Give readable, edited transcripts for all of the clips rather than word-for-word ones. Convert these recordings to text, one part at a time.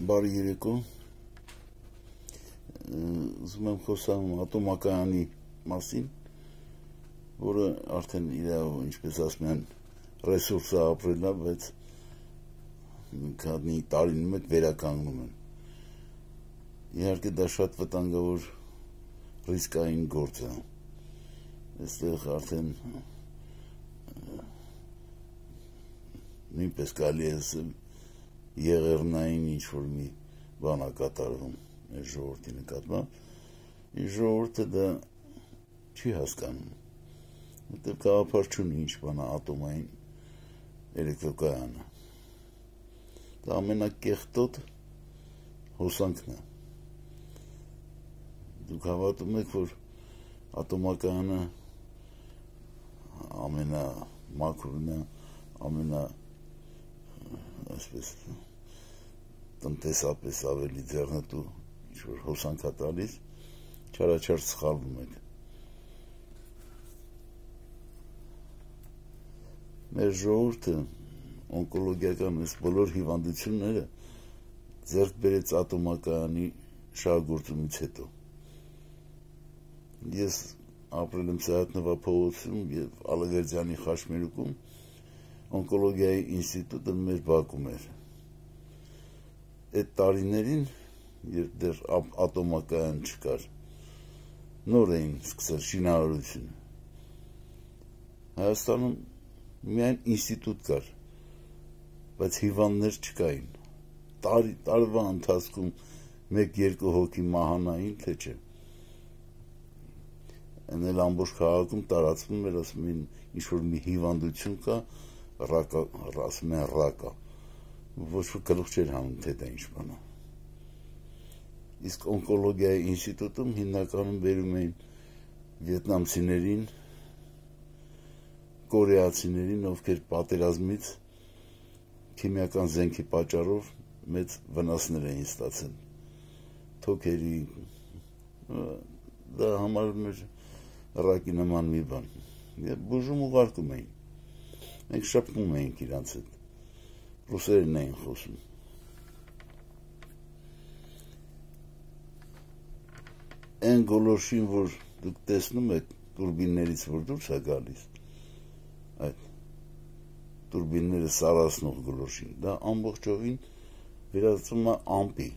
Բարի երեկո, ուզում եմ խոսամ ատոմակայանի մասին, որը արդեն իրավ, ինչպես ասում են, ռեսուրսը ապրել է, բայց քանի տարին մեկ վերականգնում են։ Իհարկե դա շատ վտանգավոր ռիսկային գործ է։ Այստեղ արդեն նույնպես կարելի է ասել եղեռնային ինչ-որ մի բան է կատարվում այս ժողովրդի նկատմամբ, իսկ ժողովուրդը դա չի հասկանում, որտեղ գաղափար չունի ինչ բան է ատոմային էլեկտրակայանը։ Դա ամենակեղտոտ հոսանքն է։ Դուք հավատում եք, որ ատոմակայանը ամենամաքրն է, այսպես տնտեսապես ավելի ձեռնտու ինչ-որ հոսանք է տալիս, չարաչար սխալվում եք։ Մեր ժողովուրդը օնկոլոգիական այս բոլոր հիվանդությունները ձեռք բերեց ատոմակայանի շահագործումից հետո։ Ես ապրել եմ Սայաթ-Նովա փողոցում և Ալավերդյանի խաչմերուկում, օնկոլոգիայի ինստիտուտը մեր բակում էր։ Այդ տարիներին, երբ դեռ ատոմակայան չկար, նոր էին սկսել շինարարությունը։ Հայաստանում միայն ինստիտուտ կար, բայց հիվանդներ չկային։ Տարվա ընթացքում 1-2 հոգի մահանային, թե չէ։ Այն էլ ամբողջ քաղաքում տարածվում էր, ասում էին, ինչ-որ մի հիվանդություն կա, ասում են ռակա, ոչ որ գլուխ չէր հանում, թե դա ինչ բան է։ Իսկ օնկոլոգիայի ինստիտուտում հիմնականում բերում էին վիետնամցիներին, կորեացիներին, ովքեր պատերազմից քիմիական զենքի պատճառով մեծ վնասներ էին ստացել։ Թոքերի, դա համարվում էր ռակի նման մի բան։ Բուժում ուղարկում էին։ Մենք շփվում էինք իրանց հետ, ռուսերեն էին խոսում։ Այն գոլորշին, որ դուք տեսնում եք տուրբիններից, որ դուրս է գալիս, այդ տուրբինները սարացնող գոլորշին, դա ամբողջովին վերածվում է ամպի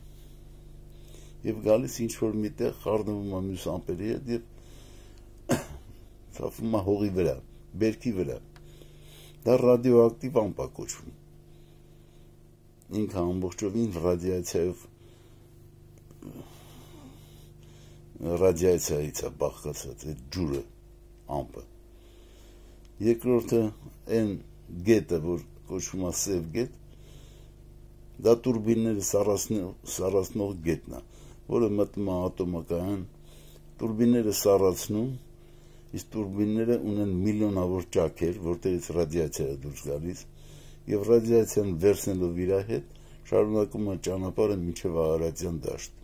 և գալիս ինչ-որ միտեղ խառնվում է մյուս ամպերի հետ և թափվում է հողի վրա, բերքի վրա։ Դա ռադիոակտիվ ամպ է կոչվում։ Ինքը ամբողջովին ռադիացիայից է բաղկացած այդ ջուրը, ամպը։ Երկրորդը այն գետը, որ կոչվում է սև գետ, դա տուրբինները սառացնող գետն է, որը մտնում է ատոմակայան, տուրբինները սառացնում, իսկ տուրբինները ունեն միլիոնավոր ճաքեր, որտեղից ռադիացիա է դուրս գալիս, և ռադիացիան վերցնելով իր հետ շարունակում է ճանապարհը մինչև Արարատյան դաշտ։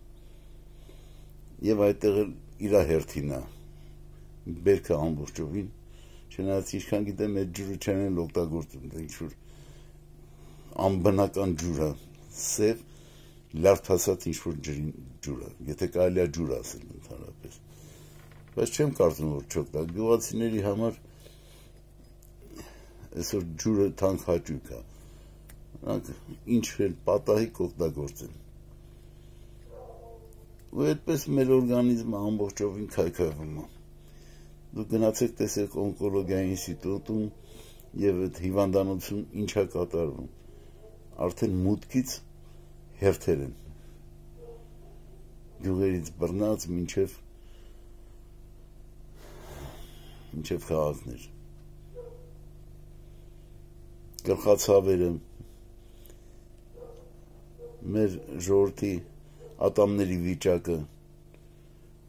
Եվ այդտեղ էլ իր հերթին է, բերքը ամբողջովին, չնայած ինչքան գիտեմ, այդ ջուրը չեն էլ օգտագործում, դա ինչ-որ անբնական ջուր է, սև, լյարդացած ինչ-որ ջուր է, եթե կարելի է ջուր ասել ընդհանրապես։ Բայց չեմ կարծում, որ չօգտա։ Գյուղացիների համար այսօր ջուրը թանկ հաճույք է։ Նրանք ինչ էլ պատահի կօգտագործեն։ Ու այդպես մեր օրգանիզմը ամբողջովին քայքայվում է։ Դուք գնացեք տեսեք օնկոլոգիայի ինստիտուտում և այդ հիվանդանոցում ինչ է կատարվում։ Արդեն մուտքից հերթեր են։ Գյուղերից բռնած մինչև քաղաքներ։ Գլխացավերը, մեր ժողովրդի ատամների վիճակը,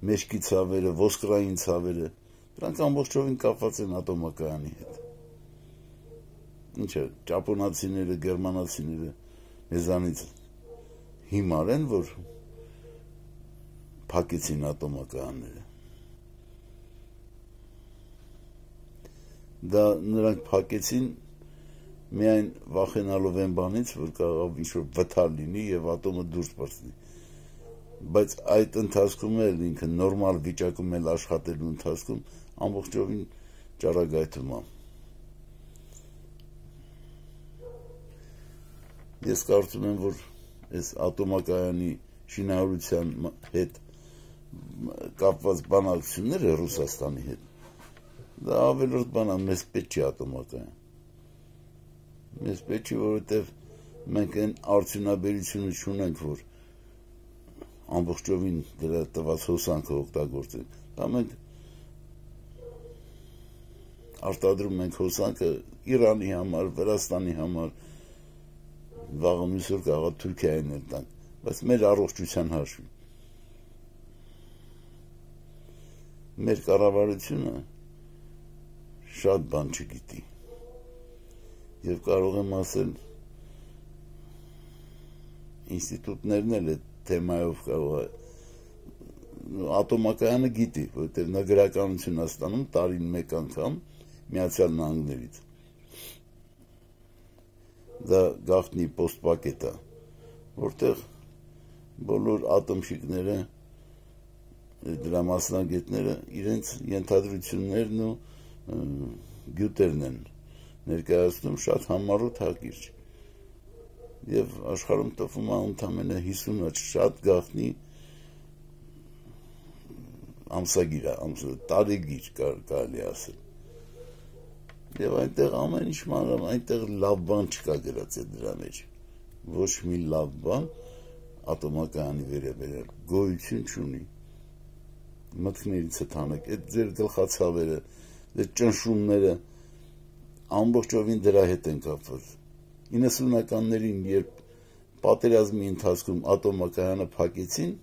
մեջքի ցավերը, ոսկրային ցավերը, դրանք ամբողջովին կապված են ատոմակայանի հետ։ Ինչը, ճապոնացիները, գերմանացիները մեզանից հիմար են, որ փակեցին ատոմակայանները։ Դա նրանք փակեցին միայն վախենալով են բանից, որ կարող ինչ-որ վթար լինի եւ ատոմը դուրս պրծնի, բայց այդ ընթացքում էլ ինքը նորմալ վիճակում էլ աշխատելու ընթացքում ամբողջովին ճառագայթում է։ Ես կարծում եմ, որ այս ատոմակայանի շինարարության հետ կապված բանակցությունները Ռուսաստանի հետ, դա ավելորդ բան է, մեզ պետք չի ատոմակայան։ Մեզ պետք չի, որովհետև մենք այն արդյունաբերությունը չունենք, որ ամբողջովին դրա տված հոսանքը օգտագործենք։ Դա մենք արտադրում ենք հոսանքը Իրանի համար, Վրաստանի համար, վաղը մյուս օր կարող է Թուրքիային էլ տանք, բայց մեր առողջության հաշվին։ Մեր կառավարությունը շատ բան չգիտի եւ կարող եմ ասել ինստիտուտներն էլ այդ թեմայով կարող է ատոմակայանը գիտի, որովհետեւ նա գրականություն է ստանում տարին մեկ անգամ Միացյալ Նահանգներից։ Դա գաղտնի պոստպակետ է, որտեղ բոլոր ատոմշիկները, դրա մասնագետները իրենց ենթադրություններն ու գյուտերն են ներկայացնում շատ համառոտ հակիրճ։ Եվ աշխարհում տպվում է ընդամենը 50 շատ գաղտնի ամսագիր է, տարեգիր կարելի ասել։ Եվ այնտեղ ամեն ինչ մանրամ, այնտեղ լավ բան չկա գրած է դրա մեջ։ Ոչ մի լավ բան ատոմակայանի վերաբերյալ գոյություն չունի։ Մտքներից է թանեք, այդ ձեր գլխացավերը, այդ ճնշումները ամբողջովին դրա հետ են կապված։ 90-ականներին, երբ պատերազմի ընթացքում ատոմակայանը փակեցին,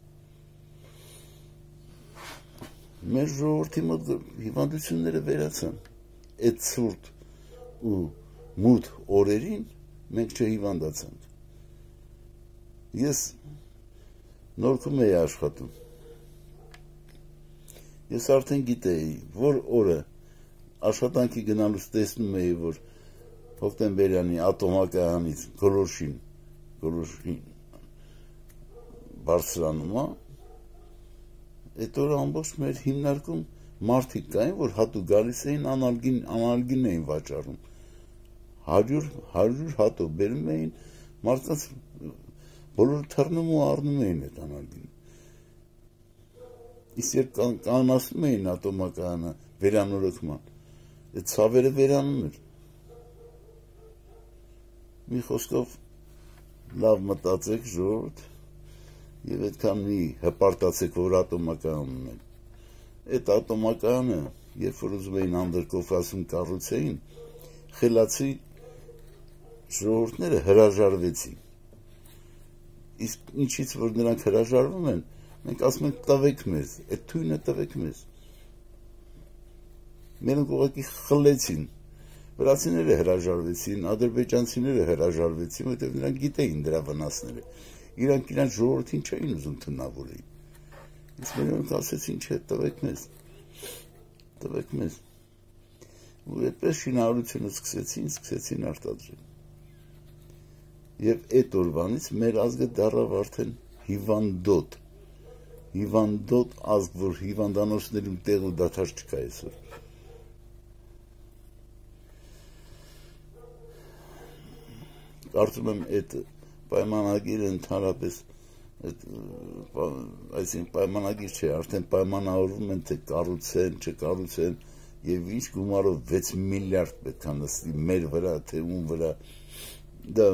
մեր ժողովրդի մոտ հիվանդությունները վերացան։ Այդ ցուրտ ու մութ օրերին մենք չհիվանդացանք։ Ես Նորքում էի աշխատում։ Ես արդեն գիտեի, որ օրը աշխատանքի գնալուց տեսնում էի, որ հոկտեմբերյանի ատոմակայանից գոլորշին բարձրանում է, այդ օրը ամբողջ մեր հիմնարկում մարդիկ կային, որ հատուկ գալիս էին անալգին էին վաճառում, 100 հատուկ բերում էին, մարդկանց բոլորը թռնում ու առնում էին այդ անալգին։ Իսկ երբ կանասնում էին ատոմակայանը վերանորոգման, այդ ցավերը վերանում էր։ Մի խոսքով լավ մտածեք ժողովուրդ եւ այդքան մի հպարտացեք, որ ատոմակայան ունեն։ Այդ ատոմակայանը, երբ որ ուզում էին անդրկովկասում կառուցեին, խելացի ժողովուրդները հրաժարվեցին։ Իսկ ինչից որ նրանք հրաժարվում են, մենք ասում ենք տվեք մեզ, այդ թույնը տվեք մեզ։ Մենակ ուղղակի խլեցին։ Վրացիները հրաժարվեցին, ադրբեջանցիները հրաժարվեցին, որտեղ նրանք գիտեին դրա վնասները։ Իրանք իրենց ժողովրդին չէին ուզում թունավորեին։ Իսկ նրանք ասեցին, չէ, տվեք մեզ։ Ու այդպես շինարարությունը սկսեցին արտադրել։ Եվ այդ օրվանից մեր ազգը դառավ արդեն հիվանդոտ ազգ, որ հիվանդանոցներում տեղ ու դադար չկա այսօր։ Կարծում եմ այդ պայմանագիրը ընդհանրապես այսինքն պայմանագիր չէ, արդեն պայմանավորվում են, թե կառուցեն, չկառուցեն եւ ինչ գումարով 6 միլիարդ պետք է նստի մեր վրա, թե ում վրա։ Դա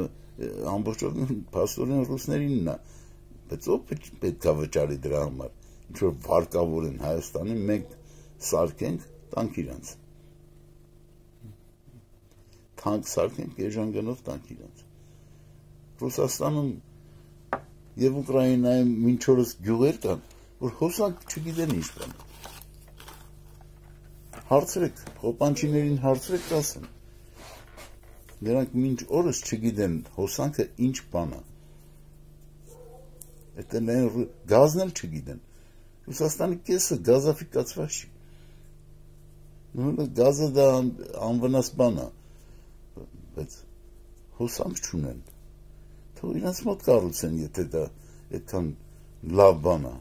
ամբողջովին փաստորեն ռուսներինն է, բայց ով պետք է վճարի դրա համար։ Ինչ որ վարկավոր են Հայաստանի, մենք սարքենք, տանք իրանց։ Թանկ սարքենք, էժան տանք իրանց։ Ռուսաստանում եւ Ուկրաինայում մինչ օրս գյուղեր կան, որ հոսանք չգիտեն ինչ բան։ Հարցրեք, խոպանչիներին հարցրեք, ասեն։ Նրանք մինչ օրս չգիտեն հոսանքը ինչ բան է։ Դա գազն էլ չգիտեն։ Ռուսաստանի կեսը գազաֆիկացված չի։ Գազը դա անվնաս բան է, բայց հոսանք չունեն, թող իրենց մոտ կառուցեն, եթե դա այդքան լավ բան է։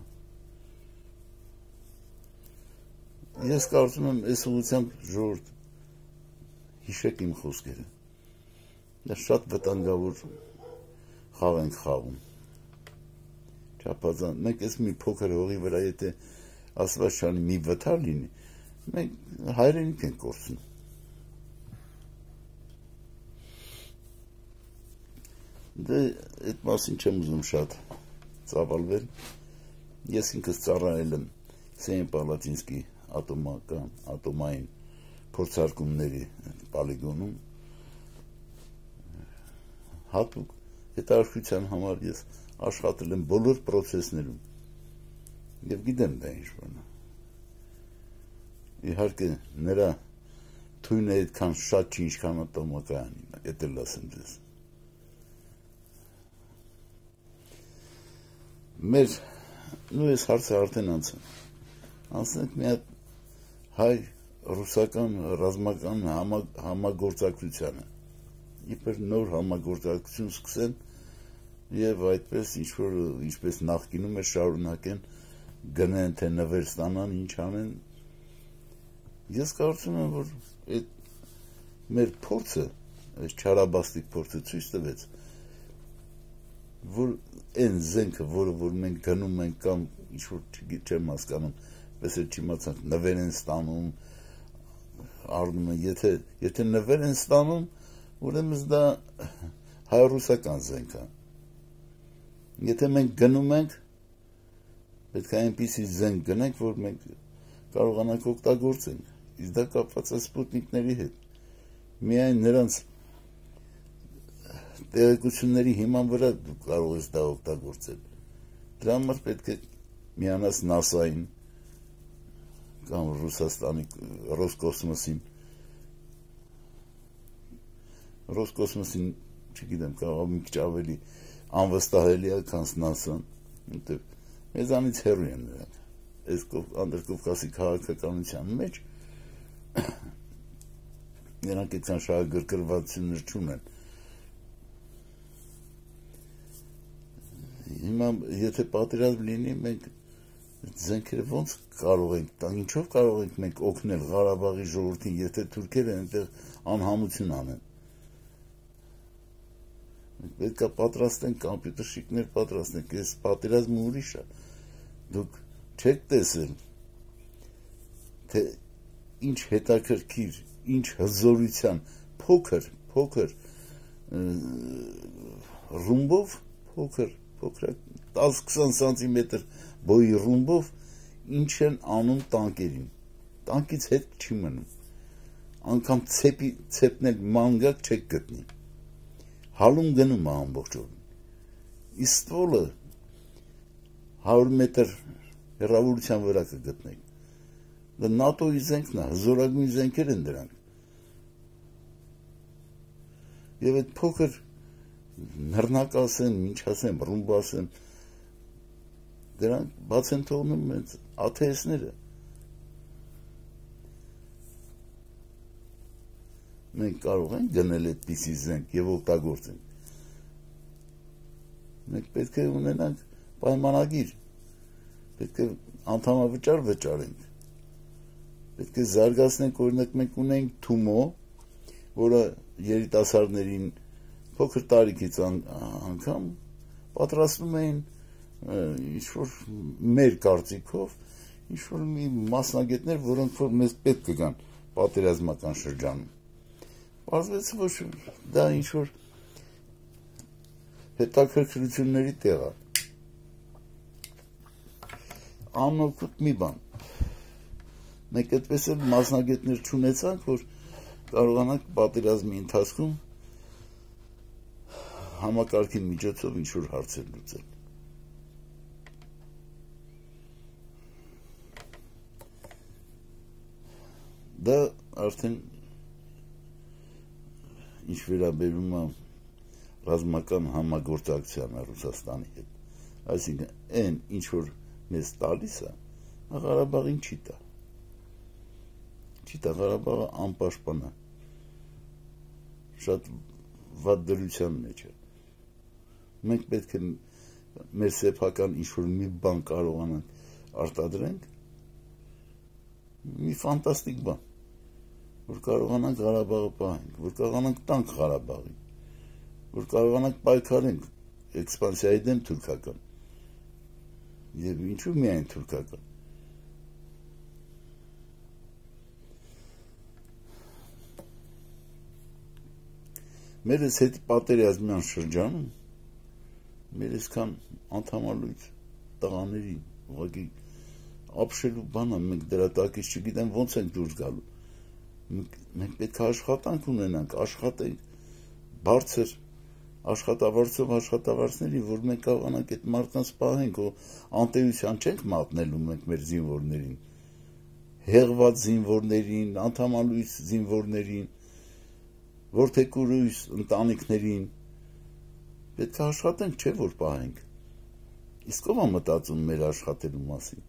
Ես կարծում եմ, այս ուղղությամբ ժողովուրդ հիշեք իմ խոսքերը։ Դա շատ վտանգավոր խաղ ենք խաղում։ Չափազանց, մենք այս մի փոքր հողի վրա, եթե Աստված չանի մի վթար լինի, մենք հայրենիք ենք կորցնում։ Դե այդ մասին չեմ ուզում շատ ծավալվել։ Ես ինքս ծառայել եմ Սենյապալատինսկի ատոմային փորձարկումների պոլիգոնում, հատուկ հետաքրքրության համար ես աշխատել եմ բոլոր պրոցեսներում եւ գիտեմ դա ինչ բան է։ Իհարկե նրա թույնը այդքան շատ չի, ինչքան ատոմակայանին, եթե լասեմ ձեզ։ Մեր նույն այս հարցը արդեն անցնենք մի հատ հայ-ռուսական ռազմական համագործակցությանը, իբր նոր համագործակցություն սկսեն եւ այդպես ինչպես նախկինում էր շարունակեն, գնեն թե նվեր ստանան, ինչ անեն։ Ես կարծում եմ, որ այդ մեր փորձը, այս չարաբաստիկ փորձը ցույց տվեց, որ այն զենքը, որ մենք գնում ենք կամ ինչ-որ չեմ հասկանում, պես էլ չիմացանք, նվեր են ստանում, առնում են, եթե նվեր են ստանում, ուրեմն դա հայ-ռուսական զենք է։ Եթե մենք գնում ենք, պետք է այնպիսի զենք գնենք, որ մենք կարողանանք օգտագործենք, իսկ դա կապված է սպուտնիկների հետ։ Միայն նրանց տեղեկությունների հիման վրա դու կարող ես դա օգտագործել։ Դրա համար պետք է միանաս ՆԱՍԱ-ին կամ Ռուսաստանի Ռոսկոսմոսին, չգիտեմ, կարող մի քիչ ավելի անվստահելի է, քան ՆԱՍԱ-ն, որտեղ մեզանից հեռու են նրանք։ Այս Անդրկովկասի քաղաքականության մեջ նրանք այդքան շահագրգռվածություններ չունեն։ Հիմա եթե պատերազմ լինի, մենք զենքերը ոնց կարող ենք, ինչով կարող ենք մենք օգնել Ղարաբաղի ժողովրդին, եթե թուրքերը այնտեղ անհամություն անեն։ Մենք պետք է պատրաստենք, կամպյուտերշիկներ պատրաստենք, այս պատերազմը ուրիշ է։ Դուք չեք տեսել, թե ինչ հետաքրքիր, ինչ հզորության, փոքր ռումբով, փոքր 10-20 սանտիմետր բոյի ռումբով ինչ են անում տանկերին։ Տանկից հետ չի մնում։ Անգամ ցեպնել մանգակ չեք գտնի։ Հալում գնում է ամբողջ օրն։ Իսկ ստվոլը 100 մետր հեռավորության վրա կգտնեք։ Դա ՆԱՏՕ-ի զենքն է, հզորագույն զենքեր են դրանք։ Եվ այդ փոքր նռնակ ասեն, ինչ ասեմ, ռումբ ասեմ, դրանք բաց են թողնում մեծ աթեիստները։ Մենք կարող ենք գնել այդպիսի զենք եւ օգտագործենք։ Մենք պետք է ունենանք պայմանագիր, պետք է անդամավճար վճարենք, պետք է զարգացնենք, օրինակ մենք ունենք Թումո, որը երիտասարդներին փոքր տարիքից անգամ պատրաստում էին ինչ-որ մեր կարծիքով, ինչ-որ մի մասնագետներ, որոնք որ մեզ պետք կգան պատերազմական շրջանում։ Պարզվեց, որ դա ինչ-որ հետաքրքրությունների տեղ է։ Անօգուտ մի բան։ Մենք այդպես էլ մասնագետներ չունեցանք, որ կարողանանք պատերազմի ընթացքում համակարգի միջոցով ինչ-որ հարցեր լուծել։ Դա արդեն ինչ վերաբերում է ռազմական համագործակցությանը Ռուսաստանի հետ, այսինքն այն ինչ որ մեզ տալիս է, Ղարաբաղին չի տա։ Չի տա, Ղարաբաղը անպաշտպան է։ Շատ վատ դրության մեջ է։ Մենք պետք է մեր սեփական ինչ-որ մի բան կարողանանք արտադրենք, մի ֆանտաստիկ բան, որ կարողանանք Ղարաբաղը պահենք, որ կարողանանք տանք Ղարաբաղին, որ կարողանանք պայքարենք էքսպանսիայի դեմ թուրքական, եւ ինչու միայն թուրքական։ Մեր այս հետ պատերազմյան շրջանում մեր այսքան անդամալույց տղաներին ուղղակի ապշելու բանը մենք դրա տակից չգիտեմ ոնց ենք դուրս գալու։ Մենք պետք է աշխատանք ունենանք, աշխատենք բարձր աշխատավարձով աշխատավարձների, որ մենք կարողանանք այդ մարդկանց պահենք, ու անտերության չենք մատնելու մենք մեր զինվորներին, հեղված զինվորներին, անդամալույց զինվորներին, որդեկուրույս ընտանիքներին, պետք է աշխատենք, չէ՞ որ պահենք։ Իսկ ով է մտածում մեր աշխատելու մասին,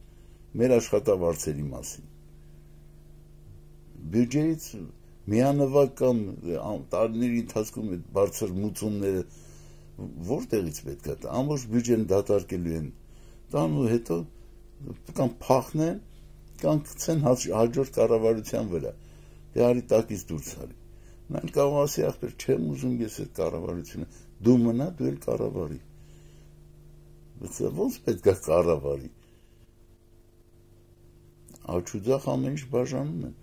մեր աշխատավարձերի մասին։ Բյուջեից միանվագ կամ տարիների ընթացքում այդ բարձր մուծումները որտեղից պետք է տա, ամբողջ բյուջեն դատարկելու են, տանու հետո կամ փախնեն, կամ գցեն հաջորդ կառավարության վրա, դե արի տակից դուրս արի։ Նա կարող ասի ախպեր, չեմ ուզում ես այդ կառավարությունը, դու մնա, դու էլ կառավարի։ Բայց ոնց պետք է կառավարի։ Աչուձախ ամեն ինչ բաժանում են։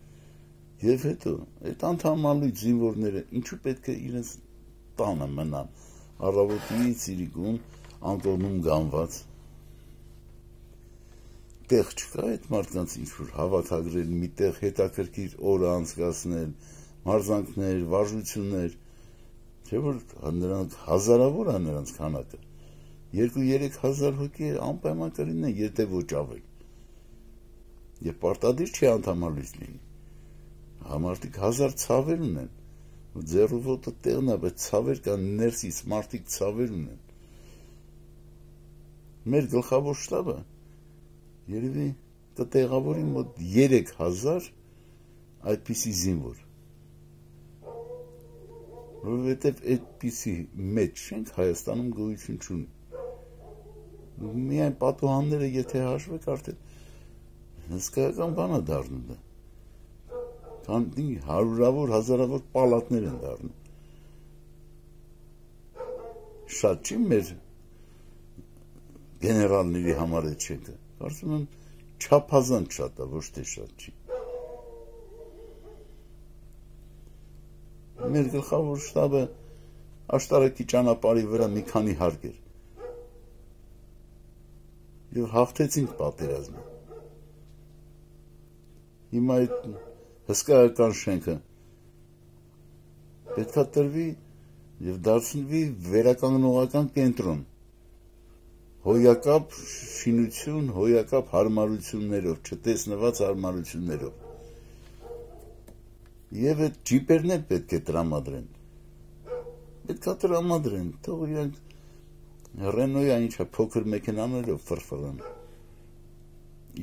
Եվ հետո այդ անդամալույց զինվորները ինչու պետք է իրենց տանը մնան, առավոտից իրիկուն անկողնում գանված։ Տեղ չկա այդ մարդկանց ինչ-որ հավաքագրել, մի տեղ հետաքրքիր օրը անցկացնել, մարզանքներ, վարժություններ, չէ՞ որ նրանք հազարավոր է նրանց քանակը, 2-3 հազար հոգի անպայման կլինեն, եթե ոչ ավել։ Եվ պարտադիր չի անդամալույց լինի։ Համարտիկ 1000 ցավեր ունեն, ձեռու ոտը տեղն է, բայց ցավեր կան ներսից, մարդիկ ցավեր ունեն։ Մեր գլխավոր շտաբը երևի կտեղավորի մոտ 3000 այդպիսի զինվոր, որովհետև այդպիսի մեծ շենք Հայաստանում գոյություն չունի։ Միայն պատուհանները եթե հաշվեք, արդեն հսկայական բան է դառնում դա։ Քանի հարյուրավոր, հազարավոր պալատներ են դառնում։ Շատ չի մեր գեներալների համար այդ շենքը, կարծում եմ չափազանց շատ է, ոչ թե շատ չի։ Մեր գլխավոր շտաբը աշտարակի ճանապարհի վրա մի քանի հարկ էր։ Եվ հաղթեցինք պատերազմը։ Հիմա այդ հսկայական շենքը պետք է տրվի եւ դարձնվի վերականգնողական կենտրոն, հոյակապ շինություն, հոյակապ հարմարություններով, չտեսնված հարմարություններով։ Եվ այդ ջիպերներ պետք է տրամադրեն։ Պետք է տրամադրեն, թող իրանք Ռենոյա ինչա փոքր մեքենաներով ֆրֆռան։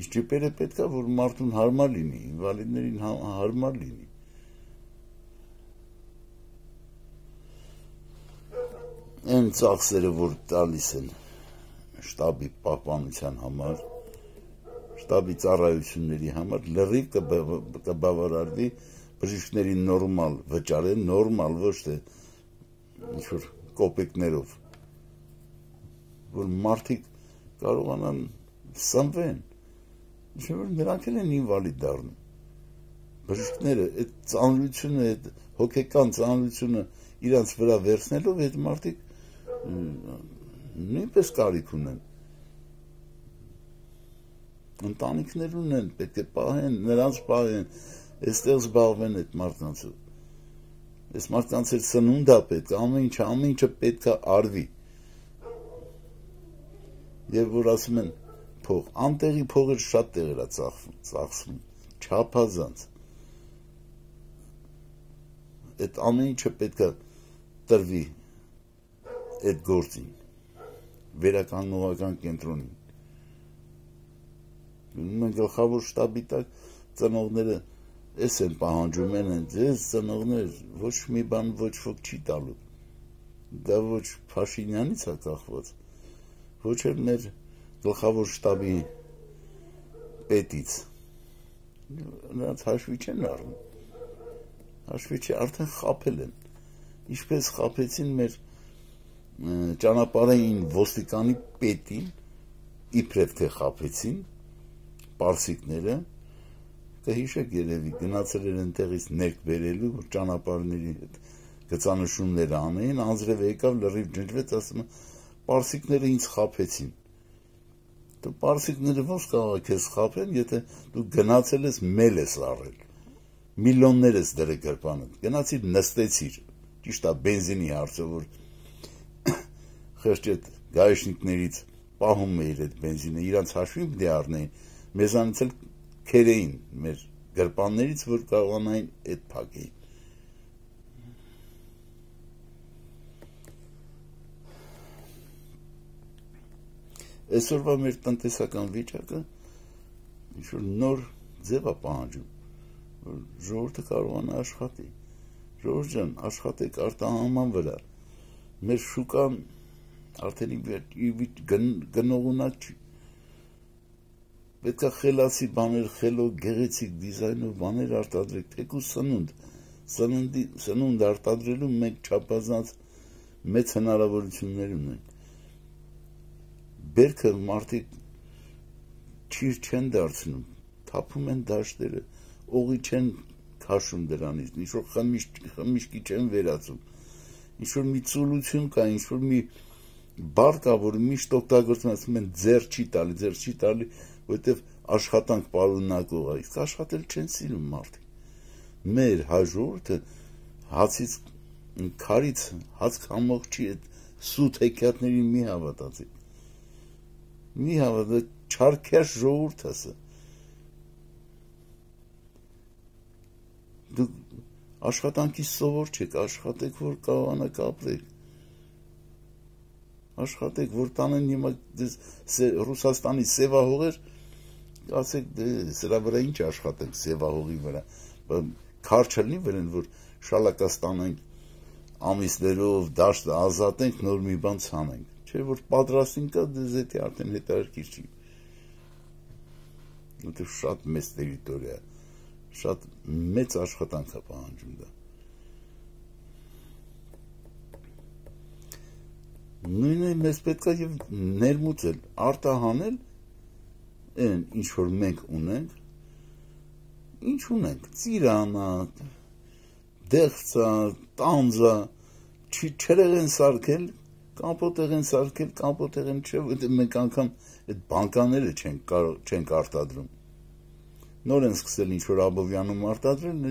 Իսկ ջիպերը պետք է որ մարդուն հարմար լինի, ինվալիդներին հարմար լինի։ Այն ծախսերը, որ տալիս են շտաբի պահպանության համար, շտաբի ծառայությունների համար, լրիվ կբավարարվի բժիշկների նորմալ վճարը, նորմալ ոչ թե ինչ-որ կոպեկներով, որ մարդիկ կարողանան սնվեն, ինչ որ նրանք են ինվալիդ դառնում։ Բժիշկները այդ ծանրությունը, այդ հոգեկան ծանրությունը իրանց վրա վերցնելով այդ մարդիկ նույնպես կարիք ունեն։ Ընտանիքներ ունեն, պետք է պահեն, նրանց պահեն, այստեղ զբաղվեն այդ մարդկանցով։ Այս մարդկանց էլ սնունդա պետք է, ամեն ինչը պետք է արվի։ Եվ որ ասում են փող, անտեղի փողը շատ տեղեր է ծախսվում, չափազանց։ Այդ ամեն ինչը պետք է տրվի այդ գործին, վերականգնողական կենտրոնին։ Մենք գլխավոր շտաբի տակ ծնողները էս են պահանջում են, ձեզ ծնողներ ոչ մի բան ոչ ոք չի տալու։ դա ոչ Փաշինյանից է կախված, ոչ էլ մեր գլխավոր շտաբի պետից, նրանց հաշվի չեն առնում, հաշվի չի, արդեն խաբել են, ինչպես խաբեցին մեր ճանապարհային ոստիկանի պետին, իբրև թե խաբեցին պարսիկները, կհիշեք երևի, գնացել էր այնտեղից ներք բերելու, որ ճանապարհների հետ գծանշումները անեին, անձրև եկավ, լրիվ ջնջվեց, ասում է, պարսիկները ինձ խաբեցին։ Դու պարսիկները ոնց կարող է քեզ խաբեն, եթե դու գնացել ես մել ես առել, միլիոններ ես դրել գրպանդ, գնացիր նստեցիր, ճիշտ է բենզինի հարցը, որ խեղճ այդ գայշնիկներից պահում էիր այդ բենզինը, իրանց հաշվին պետք է առնեին, մեզանից էլ քերեին մեր գրպաններից, որ կարողանային այդ փակեին։ Այսօրվա մեր տնտեսական վիճակը ինչ-որ նոր ձև է պահանջում, որ ժողովուրդը կարողանա աշխատի, ժողովուրդ ջան, աշխատեք արտահանման վրա, մեր շուկան արդեն գնողունակ չի, պետք է խելացի բաներ, խելոք, գեղեցիկ դիզայնով բաներ արտադրեք, թեկուզ սնունդ արտադրելու մենք չափազանց մեծ հնարավորություններ ունենք, բերքը մարդիկ ճիր չեն դարձնում, թափում են դաշտերը, օղի չեն քաշում դրանից, ինչ-որ խմիչքի չեն վերածում, ինչ-որ մի ծուլություն կա, ինչ-որ մի բառ կա, որ միշտ օգտագործում ասում են ձեռ չի տալի, որովհետև աշխատանք պարունակող է, իսկ աշխատել չեն սիրում մարդիկ։ Մեր հայ ժողովուրդը հացից քարից հաց քամող չի, այդ սուտ հեքիաթներին մի հավատացեք։ Մի հավատացեք, չարքյաշ ժողովուրդ է սա։ Դուք աշխատանքից սովոր չեք, աշխատեք, որ կարողանաք ապրեք։ Աշխատեք, որ տանեն հիմա Ռուսաստանի սևահողեր, ասեք, սրա վրա ինչ աշխատենք սևահողի վրա, քար չլինի վրան, որ շալակաստանենք ամիսներով, դաշտը ազատենք, նոր մի բան ցանենք, չէ, որ պատրաստին կա, դեզետի արդեն հետարքիր չի, որտեղ շատ մեծ տերիտորիա, շատ մեծ աշխատանք է պահանջում դա։ Նույնը մեզ պետք է եւ ներմուծել, արտահանել այն ինչ որ մենք ունենք, ինչ ունենք, ծիրանա, դեղցա, տանձա, չերեղ են սարքել, կամպոտեղ են սարքել, կամպոտեղ են չէ, որտեղ մենք անգամ այդ բանկաները չենք արտադրում։ Նոր են սկսել ինչ որ Աբովյանում արտադրել,